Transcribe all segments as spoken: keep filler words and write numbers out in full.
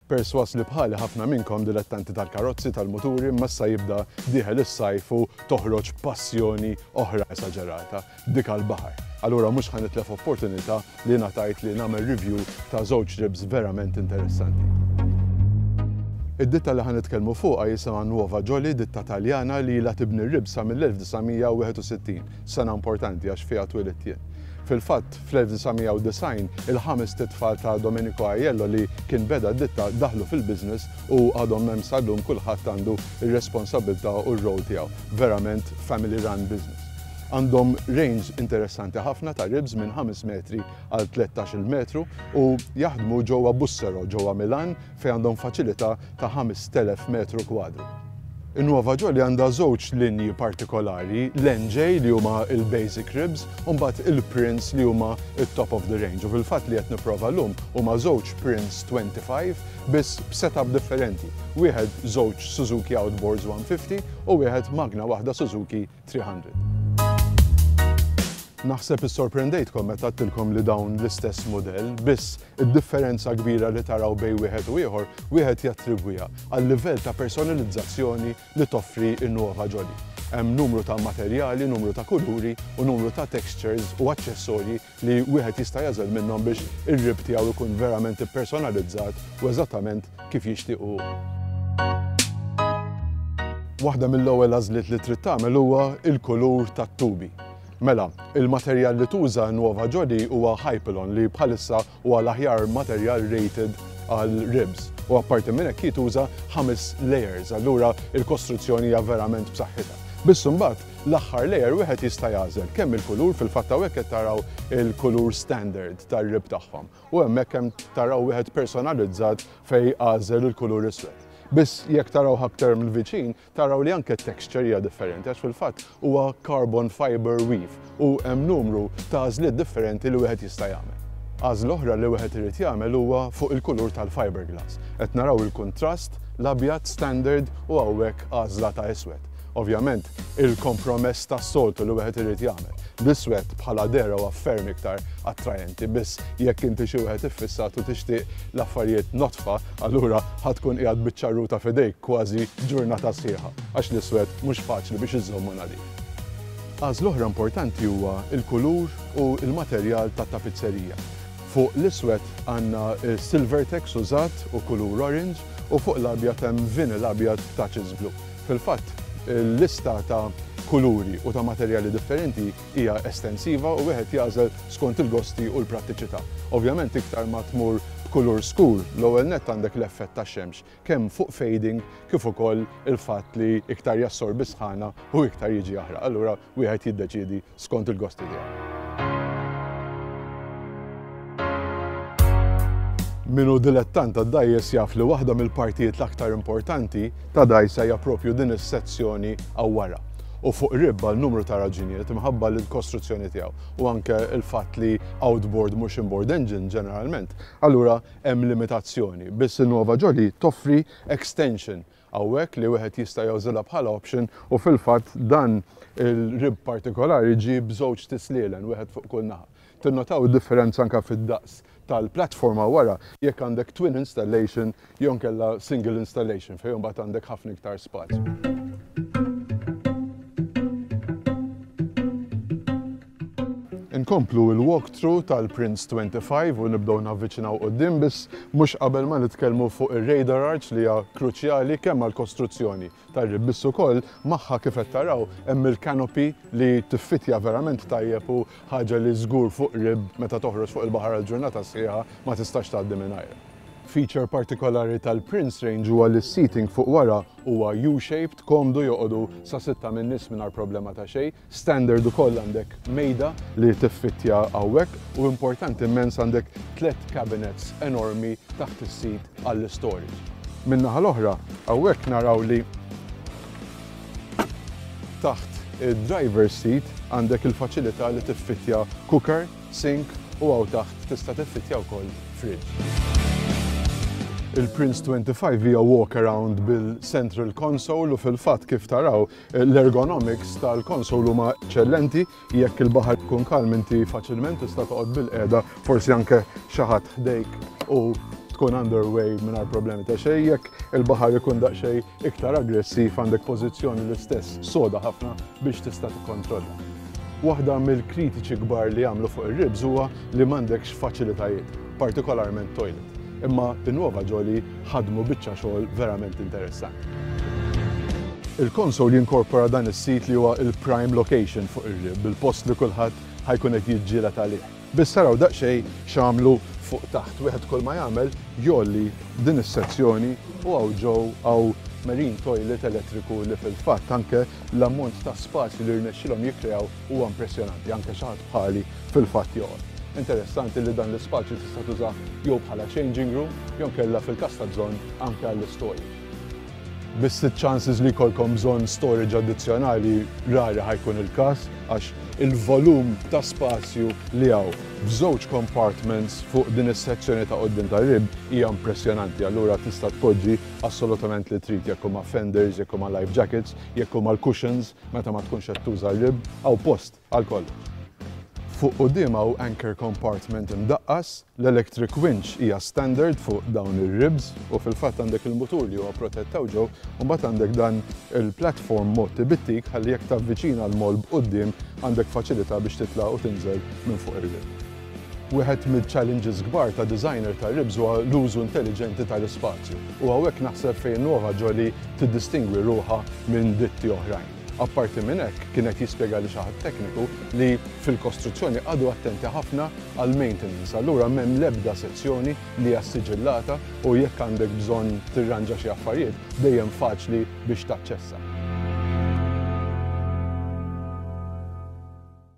Persważ li bħali ħafna minnkom dilettanti tal-karozzi, tal-muturi, imma issa jibda dieħel is-sajf u toħroġ passjoni oħra esaġerata, dik għall-baħar. Allura mhux ħa nitlef opportunità li ngħatajt li nagħmel review ta' żewġ ribs verament interessanti. Id-ditta li ħa nitkellmu fuqha jisimha Nuova Jolly, ditta Taljana li ilha tibni r-ribs sa mill-elf disa' mija u wieħed u sittin, sena importanti għax fiha twelidt jien. Fil-fatt, fl-elf disa' mija u disgħin il-ħames tfal ta' Domenico Aiello li kien beda ditta daħlu fil-business u għadhom hemm sal-lum, kulħadd għandu ir-responsabilità u r-rol tiegħu. Verament family run business. Għandhom range interessanti ħafna ta' ribs minn ħames metri għal tlettax-il metru u jaħdmu ġewwa Bussero, ġewwa Milan, fejn għandhom faċilità ta' ħamest elef metru kwadru. In-Nuova Jolly għandha żewġ linji partikolari, l-N J li huma il-basic ribs u mbagħad il-Prince li huma il-top of the range. U fil-fatt li qed nipprova llum huma żewġ Prince twenty-five, biss b'setup differenti. Wieħed żewġ Suzuki Outboards mija u ħamsin u wieħed magna waħda Suzuki tliet mija. Naħseb issorprendejtkom meta għedtilkom li dawn l-istess modell, biss id-differenza kbira li taraw bejn wieħed u ieħor, wieħed jattribwiha għal livell ta' personalizzazzjoni li toffri n-Nuova Jolly. Hemm numru ta' materjali, numru ta' kuluri u numru ta' textures u aċċessorji li wieħed jista' jagħżel minnhom biex ir-rib tiegħu jkun verament personalizzat u eżattament kif jixtiequ. Waħda mill-ewwel għażliet li trid tagħmel huwa il-kulur tat-tubi. Mela, il-materjal li tuża Nuova Jolly huwa Hypalon, li bħalissa huwa l-aħjar materjal rated għal ribs. U apparti minn hekk jituża ħames layers, allura il-kostruzzjoni hija verament b'saħħitha. Biss imbagħad l-aħħar layer wieħed jista' jagħżel kemm il-kulur, fil-fatt hawnhekk qed taraw il-kulur standard tar-rib tagħhom. U hemmhekk hemm taraw wieħed personalizzat fejn għażel il-kulur iswed. Biss jekk taraw aktar mill-viċin, taraw li anke texture hija differenti, għax fil-fatt huwa carbon fiber weave u hemm numru ta' għażliet differenti li wieħed jista' jagħmel. Għażla oħra li wieħed irid jagħmel huwa fuq il-kulur tal-fiberglass. Qed naraw il-kontrast, l-abjad standard u hawnhekk għażla ta' iswed. Ovvjament, il-kompromess tas-soltu li wieħed irid jagħmel. L-iswed bħala dehra huwa ferm iktar attrajenti, biss jekk inti xi wieħed iffissat u tixtieq l-affarijiet nodfa, allura ħa tkun qiegħed biċ-ċarruta f'idejk kważi ġurnata sħiħa, għax l-iswed mhux faċli biex iżommu nadif. Għażla oħra importanti huwa il-kulur u il-materjal ta' tapizzerija. Fuq l-iswed għandna Silvertex użat u kulur orange u fuq l-abjad hemm vinyl abjad touches blue. Fil-fatt, il-lista ta' kuluri u ta' materjali differenti hija estensiva u wieħed jagħżel skont il-gosti u l-prattiċità. Ovvjament, iktar ma tmur b'kulur skur, l-ewwel nett għandek l-effett ta' xemx, kemm fuq fading kif ukoll il-fatt li iktar jassorbi sħana u iktar jiġi aħraq. Allura wieħed jiddeċiedi skont il-gosti tiegħu. Min hu dilettant ta' dgħajjes jaf li waħda mill-partijiet l-aktar importanti ta' dgħajsa hija propju din is-sezzjoni hawn wara. U fuq rib, għal numru ta' raġunijiet, minħabba l-kostruzzjoni tiegħu u anke il-fatt li outboard mhux inboard engine ġeneralment, allura hemm limitazzjoni. Biss il-Nuova Jolly toffri extension hawnhekk li wieħed jista' jużilha bħala option u fil-fatt dan il-rib partikolari ġi b'żewġ tislielen, wieħed fuq kull naħa. Tinnotaw id-differenza anke fid-daqs tal-platforma wara jekk għandek twin installation jew kella single installation, fejn mbagħad għandek ħafna iktar spazju. Inkomplu il-walkthrough tal-Prince twenty-five u nibdew navviċinaw quddiem, biss mhux qabel ma nitkellmu fuq ir-radar arch li hija kruċjali kemm għall-kostruzzjoni tar-rib, biss ukoll magħha, kif qed taraw, hemm il-canopy li tiffitja verament tajjeb u ħaġa li żgur fuq rib meta toħroġ fuq il-baħar għal ġurnata sħiħa ma tistax tgħaddi mingħajr. Feature partikolari tal-Prince range huwa li seating fuq wara huwa U-shaped, komdu, joqogħdu sa sitta minn nies mingħajr problema ta' xejn. Standard ukoll għandek mejda li tiffittja hawnhekk u importanti immens, għandek tliet cabinets enormi taħt is-seat għall-storage. Min-naħa l-oħra, hawnhekk naraw li taħt il-driver seat għandek il-faċilità li tiffittja cooker, sink u hawn taħt tista' tiffittja wkoll fridge. Il-Prince twenty-five hija walk around bil-central console u fil-fatt, kif taraw, l-ergonomics tal-console huma eċċellenti. Jekk il-baħar ikun kalm, inti faċilment tista' toqgħod bil-qiegħda, forsi anke xi ħadd ħdejk, u tkun underway mingħajr problemi ta' xejn. Jekk il-baħar ikun daqsxejn iktar aggressiv, għandek pożizzjoni l-istess soda ħafna biex tista' tikkontrolla. Waħda mill-kritiċi kbar li għamlu fuq ir-ribs huwa li m'għandekx faċilitajiet, partikolarment toilet. Imma in-Nuova Jolly ħadmu biċċa xogħol verament interessanti. Il-konsol jinkorpora dan is-sit li huwa il-prime location fuq ir-rib, bil-post li kulħadd ħa jkun qed jiġġieled għalih. Biss taraw daqsxejn x'għamlu fuq taħt. Wieħed kull ma jagħmel jgħolli din is-sezzjoni u hawn ġew hawn marine toilet elettriku li fil-fatt anke l-ammont ta' spazju li rnexxilhom jikkreaw huwa impressjonanti, anke xi ħadd bħali fil-fatt joqgħod. Interessanti li dan l-ispazju tista' tuża jew bħala changing room jew kella fil-każ ta' bżonn anke għall-storage. Biss chances li jkollkom bżonn storage addizzjonali rari ħa jkun il-każ, għax il-volum ta' spazju li hawn f'żewġ compartments fuq din is-sezzjoni ta' quddiem tar-rib hija impressjonanti. Allura tista' tpoġġi assolutament li trid, jekk huma fenders, jekk huma life jackets, jekk huma l-cushions meta ma tkunx qed tuża r-rib, hawn post għal kollox. Fuq quddiem hawn anchor compartment imdaqqas, l-electric winch hija standard fuq dawn ir-ribs u fil-fatt għandek il-mutur li huwa protett ġew, u mbagħad għandek dan il-platform mgħotti bit-teak ħalli jekk tavviċina l-moll b'quddiem għandek faċilità biex titla' u tinżel minn fuq ir-rib. Wieħed mill-challenges kbar ta' designer ta' ribs huwa l-użu intelligenti tal-ispazju. U hawnhekk naħseb fejn Nuova Jolly tiddistingwi ruħha minn ditti oħrajn. Apparti minn hekk, kienet jispjega li xi ħadd tekniku li fil-kostruzzjoni qagħdu attenti ħafna għal maintenance. Allura m'hemm l-ebda sezzjoni li hija siġillata u jekk għandek bżonn tirranġa xi affarijiet dejjem faċli biex taċċessa.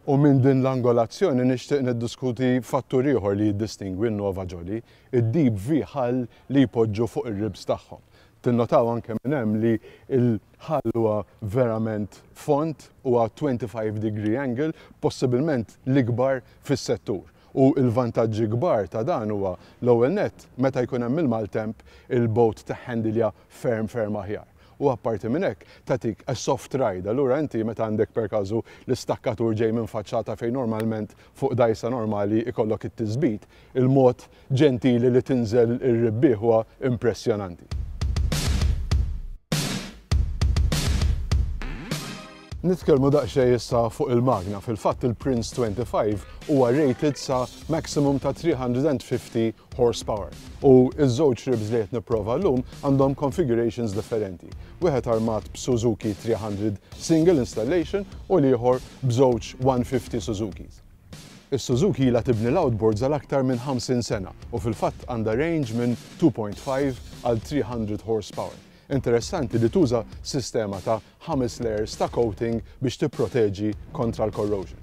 U minn din l-angolazzjoni nixtieq niddiskuti fattur ieħor li jiddistingwi n-Nuova Jolly, id-deep V hull li jpoġġu fuq ir-ribs tagħhom. Tinnotaw anke minn hemm li l-hull huwa verament fond, huwa twenty-five degree angle, possibilment l-ikbar fis-settur. U l-vantaġġi kbar ta' dan huwa l-ewwel nett meta jkun hemm il-maltemp il-boat teħħendilja ferm ferm aħjar. U apparti minn hekk tagħtik a soft ride. Allura inti meta għandek per każu l-istakkatur ġej minn faċċata fejn normalment fuq dgħajsa normali ikollok it-tisbit, il-mod ġentili li tinżel ir-rib huwa impressjonanti. Nitkellmu daqsxejn issa fuq il-magna. Fil-fatt il-Prince twenty-five huwa rated sa maximum ta' three hundred and fifty horsepower. U iż-żewġ ribs li qed nipprova llum għandhom configurations differenti. Wieħed armat b'Suzuki three hundred single installation u l-ieħor b'żewġ one fifty Suzukis. Is-Suzuki ilha tibni l-outboards għal aktar minn ħamsin sena u fil-fatt għandha range minn two point five għal three hundred horsepower. Interessanti li tuża sistema ta' ħames layers ta' coating biex tipproteġi kontra l-corrosion.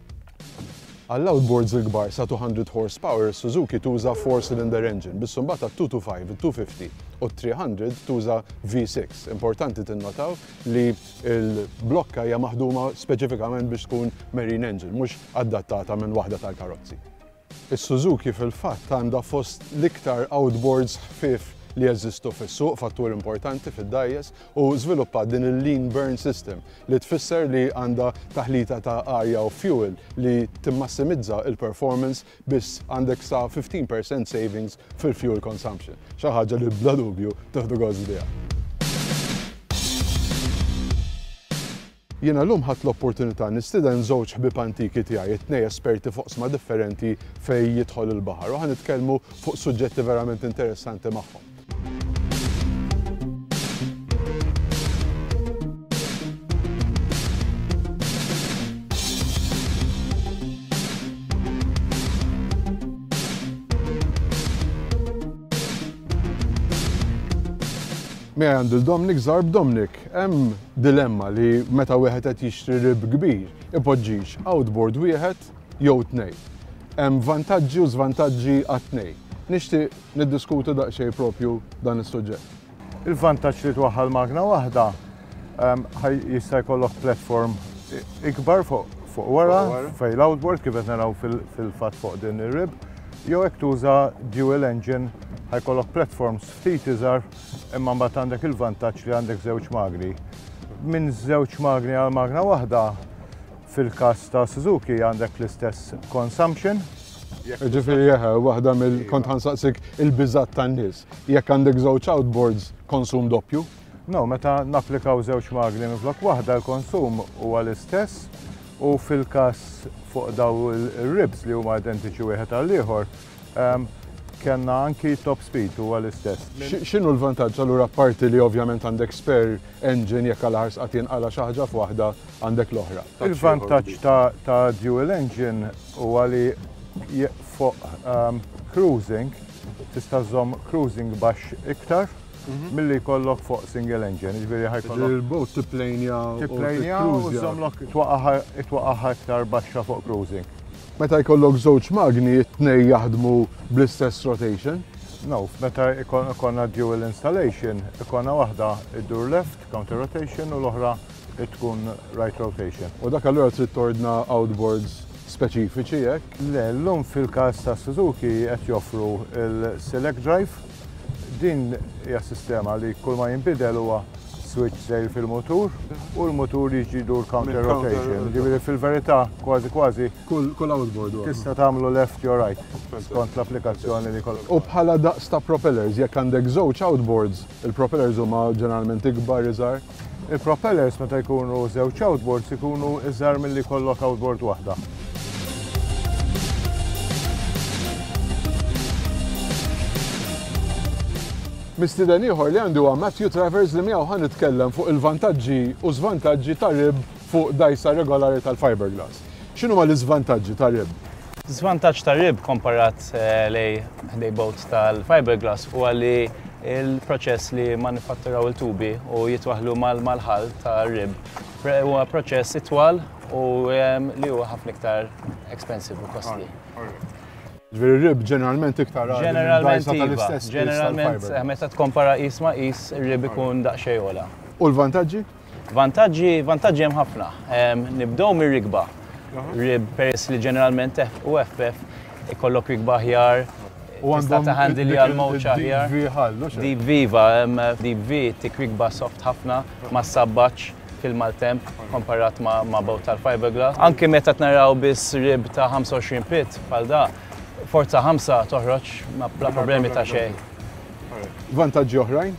Għall-outboards il-kbar sa two hundred horsepower, Suzuki tuża four cylinder engine, biss imbagħad għat two two five, it-two fifty u three hundred tuża V six. Importanti tinnotaw li l-blokka hija maħduma speċifikament biex tkun marine engine, mhux adattata minn waħda tal-karozzi. Is-Suzuki fil-fatt għandha fost l-iktar outboards ħfief li jeżistu fis-suq, fattur importanti fid-dgħajjes, u żviluppat din il-lean burn system li tfisser li għandha taħlita ta' arja u fuel li timmassimizza il-performance biss għandek sa fifteen percent savings fil-fuel consumption. Xi ħaġa li bla dubju tieħdu gost biha. Jiena llum ħadt l-opportunità nistieden żewġ ħbieb antiki tiegħi, it-tnejn esperti fuq oqsma differenti fejn jidħol il-baħar, u ħa nitkellmu fuq suġġetti verament interessanti magħhom. Miegħi għandi l-Dominic Zarb. Dominic, hemm dilemma li meta wieħed qed jixtri rib kbir ipoġġix outboard wieħed jew tnejn. Hemm vantaġġi u żvantaġġi għat-tnejn. Nixtieq niddiskutu daqsxejn propju dan is-suġġett. Il-vantaġġ li twaħħal magna waħda, ehm, ħaj jista' jkollok platform ikbar fuq, fuq wara, Fuq wara. fejn l-outboard kif qed naraw fil-, fil-fatt fuq din ir-rib, jew hekk tuża dual engine ħajkollok platforms ftit iżgħar, imma mbagħad għandek il-vantaġġ li għandek żewġ magni. Minn żewġ magni għal magna waħda, fil-każ ta' Suzuki għandek l-istess consumption, Ġifieri jeħe, waħda mill kont ħa nsaqsik il-biżat tan-nies. Jekk għandek żewġ outboards, konsum doppju? No, meta napplikaw żewġ magni minflok waħda, l-konsum huwa l-istess u fil-każ fuq daw il-ribs li huma identiċi wieħed għal ieħor, ehm, kellna anki top speed huwa l-istess. X'inhu l-vantaġġ allura, parti li ovvjament għandek spare engine jekk għal ħars qatt jinqala xi ħaġa f'waħda, għandek l-oħra? Il-vantaġġ ta' dual engine huwa li fuq um, cruising tista' żomm cruising baxx iktar mhm. milli jkollok fuq single engine, ġifieri ħa jkollok. Il-boat tipplejnja. Tipplejnja u żommlok twaqaħ iktar baxxa fuq cruising. Meta jkollok żewġ magni, it-tnej jaħdmu bl-istess rotation? No, meta ikollna dual installation, ikollna waħda iddur left, counter rotation, u l-oħra tkun right rotation. U dak allura trid tordna outboards speċifiċi hekk? Le, llum fil-każ ta' Suzuki qed joffru il-Select Drive. Din hija sistema li kull ma jinbidel huwa switch sejr fil-motur u l-motur jiġi dur counter rotation. Ġifieri fil-verità kważi kważi kull outboard tista' tagħmlu left jew right skont l-applikazzjoni li kollok. U bħala daqs ta' propellers, jekk għandek żewġ outboards, il-propellers huma ġeneralment ikbar, iżgħar? Il-propellers meta jkunu żewġ outboards ikunu iżgħar milli jkollok outboard waħda. Mistieden ieħor li għandi huwa Matthew Travers, li miegħu ħa nitkellem fuq il-vantaġġi u żvantaġġi ta' rib fuq dajsa regolari tal-fiberglass. X'inhuma l-iżvantaġġi ta' rib? Żvantaġġ ta' rib komparat eh, lej lej boat tal-fiberglass huwa li il-proċess li manifatturaw il-tubi u jitwaħlu mal-ħal ta' rib huwa proċess itwal u li huwa ħafna iktar expensive u costly. Ġifieri rib ġeneralment iktar Ġeneralment iva. Ġeneralment eh, meta tkompara qis ma qis, rib ikun daqsxejn ogħla. U l-vantaġġi? Vantaġġi, vantaġġi hemm ħafna. Nibdew mir-rikba. Rib, peress li ġeneralment u F F ikollok rikba aħjar, U tista' taħandilja l-mowġ aħjar. Deep Deep V, iva, deep V tik rikba soft ħafna, ma sabbaċ fil-maltemp komparat ma, ma boat tal-fiberglass. Anki meta naraw biss rib ta' ħamsa u għoxrin pied bħal da, forza ħamsa toħroġ ma bla problemi ta' xejn. Vantaġġi oħrajn?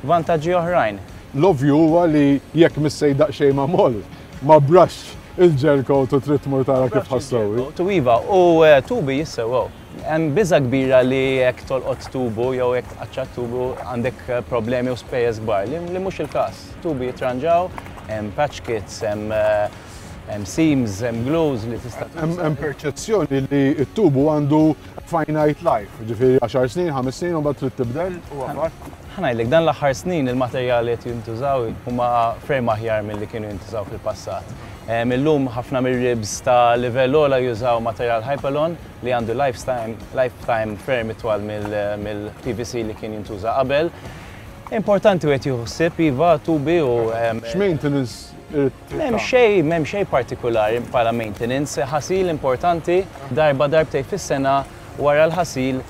Vantaġġi oħrajn. L-ovvju huwa li jekk missejt daqsxejn ma' moll, ma brax il-gel coat u trid tmur tara kif ħa ssewwi. Tu iva, u eh, tubi jissewwew. Hemm biża kbira li jekk tolqot tubu jew jekk tqaċċat tubu għandek eh, problemi u spejjeż kbar, li, li mhux il-każ. Tubi jitranġaw, hemm patch kits, hemm eh, hemm seams, hemm glues li tista' Hemm perċezzjoni li t-tubu għandu finite life, ġifieri għaxar snin, ħames snin u mbagħad trid tibdel u għafar. Ħa ngħidlek, dan l-aħħar snin il-materjali qed jintużaw huma ferm aħjar milli kienu jintużaw fil-passat. Illum ħafna mir-ribs ta' livell ogħla jużaw materjal Hypalon li għandu lifetime, lifetime ferm itwal mill-P V C li kien jintuża qabel. Importanti wieħed jieħu ħsieb iva tubi u X'maintenance? M'hemm xejn, m'hemm xejn partikolari bħala maintenance, ħasil importanti, darba darbtej fis-sena. Wara l-ħasil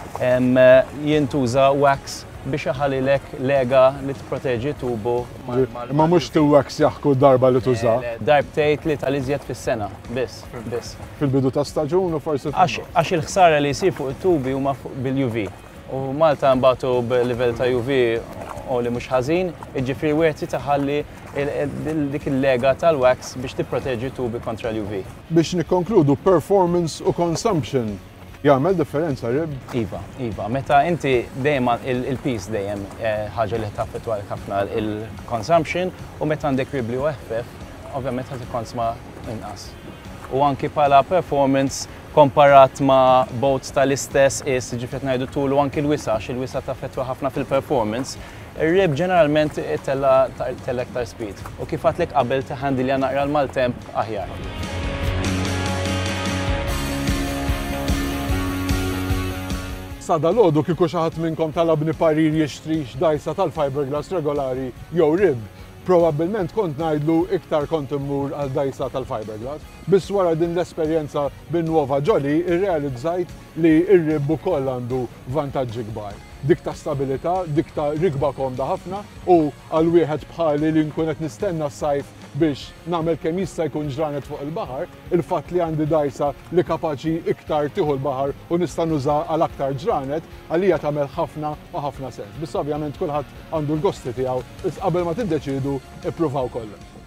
jintuża wax biex iħallilek lega li tproteġi tubu. Ma mhux tu-wax jaħku darba li tuża. Darbtej, tlieta l-iżjed fis-sena, biss, biss. Fil-bidu ta' staġun u forsi. Għax il-ħsara li jsir fuq it-tubi huma bil-U V. U Malta nbatu b'livell ta' U V u li mhux ħażin, jiġifieri wieħed taħalli dik il-lega tal-wax biex tipproteġi tubi kontra l-U V. Biex nikkonkludu, performance u consumption, jagħmel differenza rib? Iva, iva. Meta inti dejjem il-piż dejjem eh, ħaġa li taffettwa ħafna il-consumption u meta għandek rib li eħfef, ovvjament ħa tikkonsma inqas. U anki bħala performance komparat ma' boats tal-istess is, ġifieri ngħidu tul u anki l-wisa, il-wisa taffettwa ħafna fil-performance, ir-rib ġeneralment tella tella iktar speed. U kif għedtlek qabel, taħandilja naqra l-maltemp aħjar. Sa dalgħodu kieku xi ħadd minnkom talabni parir jixtrix dajsa tal-fiberglass regolari jew rib, probabbilment kont ngħidlu iktar kont immur għal dajsa tal-fiberglass. Biss wara din l-esperjenza bin Nuova Jolly irrealizzajt li r-rib ukoll għandu vantaġġi kbar. Dik ta' stabilità, dik ta' rikba komda ħafna u għal wieħed bħali li nkun qed nistenna s-sajf. Biex nagħmel kemm jista' jkun ġranet fuq il-baħar, il-fatt li għandi dgħajsa li kapaċi iktar tieħu l-baħar u nista' nuża għal aktar ġranet, għalija tagħmel ħafna u ħafna sens. Biss ovvjament kulħadd għandu l-gosti tiegħu, qabel ma tiddeċidu, ippruvaw kollox.